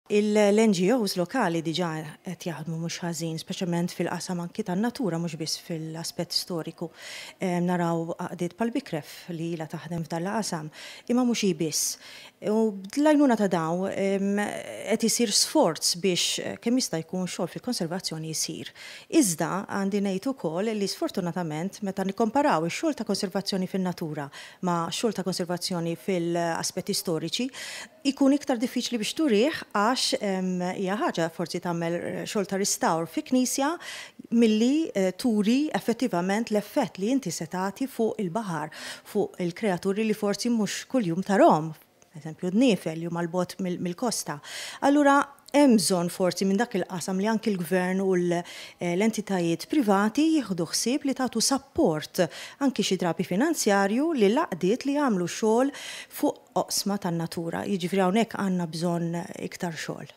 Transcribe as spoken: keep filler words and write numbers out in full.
L-N G Os lokali diġà qed jaħdmu mhux ħażin, speċjalment fil-qasam anki tan-natura, mhux biss fil-aspett storiku. Naraw għaqdiet bħal Bikref li ilha taħdem f'dan l-qasam, imma mhux hi biss. U bl-għajnuna ta' dawn qed isir sforz biex kemm jista' jkun xogħol fil-konservazzjoni jsir. Iżda għandi ngħid ukoll li sfortunatament, meta nikkomparaw ix-xogħol ta' konservazzjoni fin-natura ma' xogħol ta' konservazzjoni fil-aspetti storiċi, ikun iktar diffiċli biex turih, għax hija ħaġa forsi tagħmel xogħol ta' restawr fi knisja milli eh, turi effettivament l-effett li inti se tagħti fuq il-baħar, fuq il-kreaturi li forsi mhux kuljum tarahom, eżempju dniefel li huma 'l bogħod mill-kosta. Allura hemm bżonn forsi minn dak il-qasam li anki l-gvern u l-entitajiet privati jieħdu ħsieb li tagħtu support, anki xi drabi finanzjarju, li l-għaqdiet li jagħmlu xogħol fuq oqsma tan-natura. Jiġifieri hawnhekk għandna bżonn iktar xogħol.